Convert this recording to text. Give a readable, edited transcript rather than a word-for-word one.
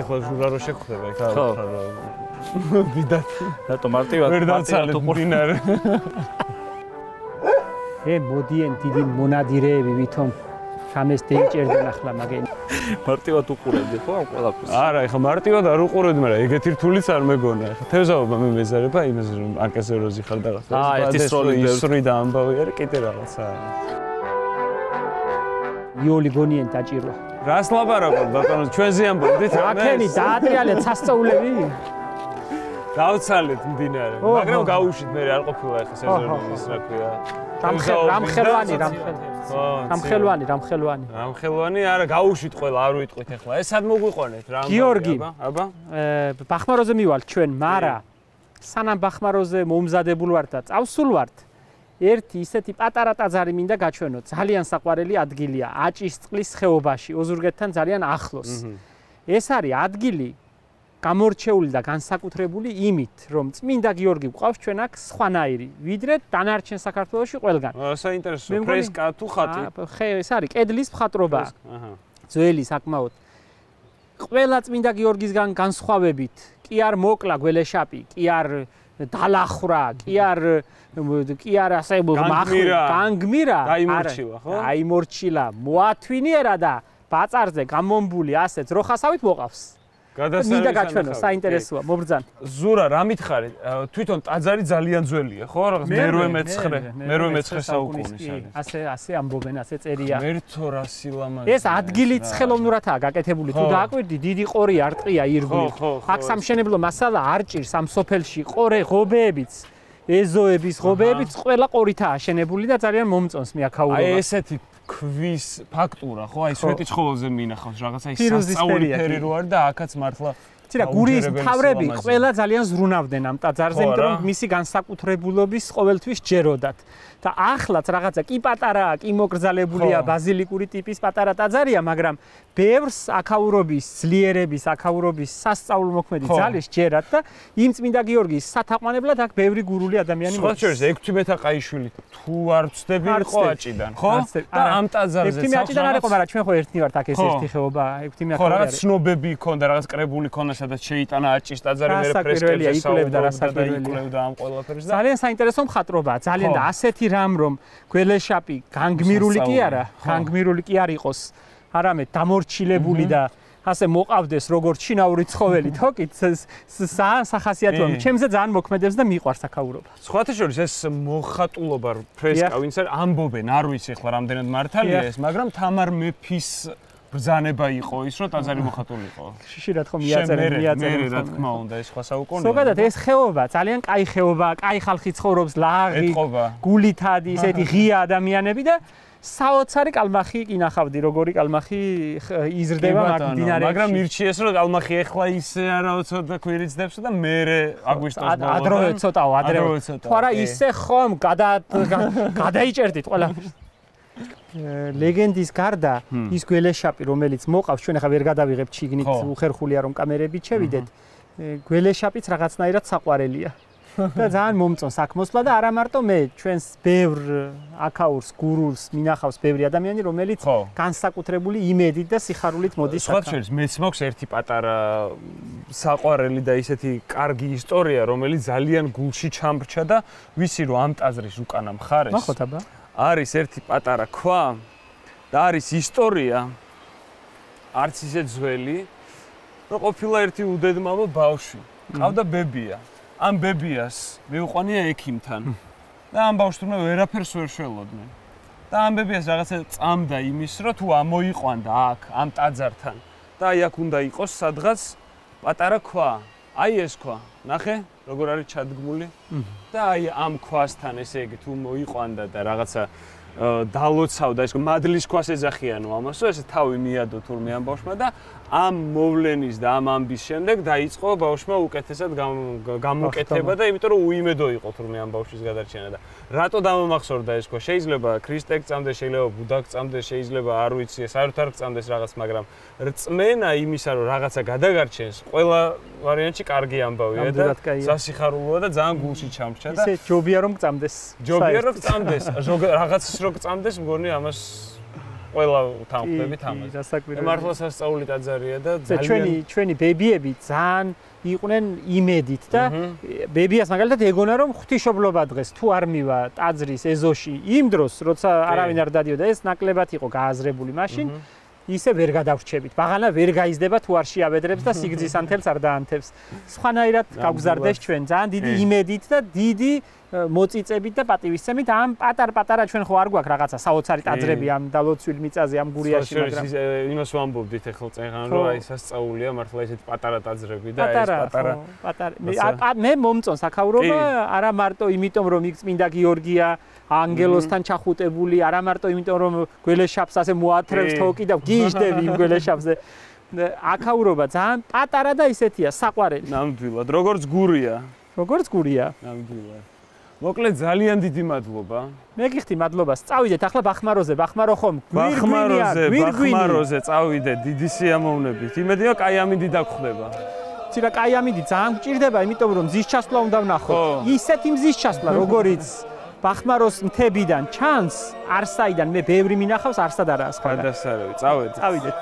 ეხლა ჟურა რო შეგხვდება ეხლა ვიდათ რატო მარტივად ვერ დავცალეთ მდინარე მოდიან დიდი მონადირეები ვითომ სამეს დაიჭერდნენ ახლა მაგენი მარტივად უყურებდი ხო ამ ყველაფერს არა ეხლა მარტივად არ უყურებდი მაგრამ ეგეთი რთულიც არ მეგონა ეხლა თევზაობა მე მეზარება იმას რომ არკასეროზი ხარ და რაღაცა ერთი ისური და ამბავი არის კიდე რაღაცა იოლი გონიენ დაჭირვა რას ლაპარაკობ ბატონო ჩვენზე ამბობდით აქენი დაატრიალეთ სასწაულები დავცალეთ მდინარე მაგრამ გაუშვით მე არ ყოფილა ეხლა სეზონის რა ქვია რამხელვანი არა გაუშვით ყველა არ ვიტყვით ეხლა ეს სად მოგვიყვანეთ რა გიორგი აბა ბახმაროზე მივალ ჩვენ მარა სანამ ბახმაროზე მომზადებულ ვართ და წავსულ ვართ ერთი ისეთი პატარა ტაძარი მინდა გაჩვენო ძალიან საყვარელი ადგილია აჭისწყლის ხეობაში ოზურგეთთან ძალიან ახლოს ეს არის ადგილი გამორჩეული და განსაკუთრებული იმით რომ წმინდა გიორგი გვყავს ჩვენ აქ სხვანაირი ვიდრე დანარჩენ საქართველოში ყველგან საინტერესო ფრესკა თუ ხატი ეს არის კედლის მხატვრობა ძველი საკმაოდ ყველა წმინდა გიორგისგან განსხვავებით კი არ მოკლა გველეშაპი კი არ დალახრა კი არ ასე განგმირა დაიმორჩილა ხო დაიმორჩილა მოათვინიერა და ბაწარზე გამომბული ასეც როხასავით მოყავს მინდა გაჩვენო საინტერესოა მობრძან ზურა რა მითხარი თვითონ ტაძარი ძალიან ძველია ხო რაღაც მე-19 საუკუნის არის ასე ამბობენ ასე წერია მერთო რა სილამაზე ეს ადგილი ცხელოვნურათაა გაკეთებული თუ დააკვირდი დიდი ყორი არტყია ირგვლივ აქ სამშენებლო მასალა არ ჭირს ამ სოფელში ყორე ღობეებიც ეზოების ღობეებიც ყველა ყორითაა აშენებული და ძალიან მომწონს მე აქაურობა აი ესეთი ქვის ფაქტურა ხო აი სვეტიცხოველზე მინახავს რაღაცა ის სასწაული ფერი რო არის და აქაც მართლა ცირა გურიის მთავრები ყველა ძალიან ზრუნავდნენ ამ ტაძარზე იმიტომ რომ მისი განსაკუთრებულობის ყოველთვის ჯეროდათ და ახლაც რაღაცა კი პატარაა კი მოკრძალებულია ბაზილიკური ტიპის პატარა ტაძარია მაგრამ ბევრს აქაურობის ძლიერების აქაურობის სასწაულმოქმედი ძალის ჯერათ და იმ წმინდა გიორგის სათაყვანებლად აქ ბევრი გურული ადამიანი მოდის. სხვა შორის 6 მეტაყაიშვილი თუ არ ვწდები იყო აჭიდან, ხო? და ამ ტაძარზე 6 აჭიდან არ იყო, მაგრამ ჩვენ ხო ერთნი ვართ აქ ეს ერთი ხეობა, 6 მეახევარი. ხო, რაღაც ცნობები იქონდა, რაღაც კრებული ქონდა, სადაც შეიტანა აჭის ტაძარი მე ფრესკებზე იკვლევდა ამ ყველაფერს და ძალიან საინტერესო მხატვრობაა, ძალიან და ასეთი რამ რომ გველეშაპი განგმირული კი არა, განგმირული კი არ იყოს. არამედ დამორჩილებული და ასე მოყავდეს როგორც შინაური ცხოველი თოკით სახასიათოა ჩემზე ძალიან მოქმედებს და მიყვარს აქაურობა. სხვათა შორის ეს მოხატულობა ფრესკა ვინც არის ამბობენ არ ვიცი ახლა რამდენად მართალია ეს მაგრამ თამარ მეფის ბრძანება იყო ის რომ ტაძარი მოხატულიყო. შშირად ხომ მიაწერენ მე რა თქმა უნდა ეს სხვა საუკუნეა. ზოგადად ეს ხეობა ძალიან კაი ხეობა, კაი ხალხი ცხოვრობს, ლაღი, გულითადი, ესეთი ღია ადამიანები და საოცარი კალმახი კინახავდი, როგორი კალმახი იზრდება მდინარეებში. მაგრამ მირჩიეს რომ კალმახი ეხლა ისე არაოცოთ და ქვირიცდებს და მე აგვისტოს ბოლოს. ადრევე ცოტაო, ადრევე. თუ არა ისე ხომ გადაიჭერდით ყველაფერს. ლეგენდის გარდა ის გველეშაპი რომელიც მოყავს ჩვენ ახლა ვერ გადავიღებთ შიგნით უხერხულია რომ კამერებით შევიდეთ. გველეშაპიც რაღაცნაირად საყვარელია. და ძალიან მომწონს აქ მოსვლა და არა მარტო მე ჩვენს ბევრ აქაურს გურულს მინახავს ბევრი ადამიანი რომელიც განსაკუთრებული იმედით და სიხარულით მოდის აქ. სხვა შორის მეც მაქვს ერთი პატარა საყვარელი და ისეთი კარგი ისტორია რომელიც ძალიან გულში ჩამრჩა და ვიცი რომ ამ ტაძრის უკანა მხარეს ნახოთ აბა არის ერთი პატარა ქვა და არის ისტორია არც ისე ძველი რომ ყოფილა ერთი უდედმამო ბავშვი ყავდა ბებია ამ ბებიას მეუყვანია ექიმთან და ამ ბავშვს თუნდაც ვერაფერს ვერ შველოდნენ და ამ ბებიას რაღაცა წამდა იმის რომ თუ ამოიყვანდა აქ ამ ტაძართან და აი აქ უნდა იყოს სადღაც პატარა ქვა აი ეს ქვა ნახე როგორ არის ჩადგმული და აი ამ ქვასთან ესე იგი თუ მოიყვანდა და რაღაცა დალოცავდა ეს მადლის ქვას ეძახიანო ამასო ესე თავი მიადო თურმე ამ ბავშვმა და ამ მოვლენის და ამ ამბის შემდეგ დაიწყო ბავშვმა უკეთესად გამოკეთება და იმიტომ რომ უიმედო იყო თურმე ამ ბავშვის გადარჩენა და რატო დამამახსოვრდა ეს ქვა შეიძლება ქრისტე გწამდეს შეიძლება ბუდა გწამდეს შეიძლება არ ვიცი საერთოდ არ გწამდეს რაღაც მაგრამ რწმენა იმისა რომ რაღაცა გადაგარჩენს ყველა ვარიანტში კარგი ამბავია და სასიხარულოა და ძალიან გულში ჩამრჩა და ისე ჯობია რომ გწამდეს ჯობია რომ გწამდეს რაღაცის რომ გწამდეს მგონი ამას ყველა თანხმდებით ამას. მართლა სასწაული ტაძარია და ძალიან ჩვენი ბებიები ძალიან იყვნენ იმედით და ბებიას მაგალითად ეგონა რომ ღვთისმშობლობა დღეს თუ არ მივა ტაძრის ეზოში იმ დროს როცა არავინ არ დადიოდა ეს ნაკლებად იყო გააზრებული მაშინ ისე ვერ გადავრჩებით. ბაღანა ვერ გაიზდება თუ არ შეაბედრებს და სიგრძის ანთებს არ დაანთებს. სხვანაირად გავგზარდეს ჩვენ ძალიან დიდი იმედით და დიდი მოწიწებით და პატივისცემით ამ პატარ-პატარა ჩვენ ხო არ გვაქვს რაღაცა საოცარი ტაძრები ამ დალოცვილ მიწაზე ამ გურიაში მაგრამ იმას ვამბობდით ახლა წეღან რომ აი სასწაულია მართლა ესეთ პატარა ტაძრები და ეს პატარა მე მომწონს აქაურობა არა მარტო იმიტომ რომ იქ წმინდა გიორგია ანგელოსთან ჩახუტებული არა მარტო იმიტომ რომ გველეშაპს ასე მოათრევს თოკი და გიჟდები იმ გველეშაპზე აქაურობა ძალიან პატარა და ისეთია საყვარელი ნამდვილად როგორც გურია ნამდვილად მოკლედ ძალიან დიდი მადლობა. მე გიხდი მადლობას. წავიდეთ ახლა ბახმაროზე, ბახმარო ხომ? ბახმაროზე წავიდეთ დიდი სიამოვნებით. იმედია კაიამინდი დაგხვდება. ცირა კაიამინდი ძალიან გჭირდება, იმიტომ რომ მზის ჩასვლა უნდა ვნახოთ. ისეთი მზის ჩასვლა, როგორიც ბახმაროს მთებიდან ჩანს, არსაიდან მე ბევრი მინახავს, არსად არაა სხვა. გადასარევი, წავედით.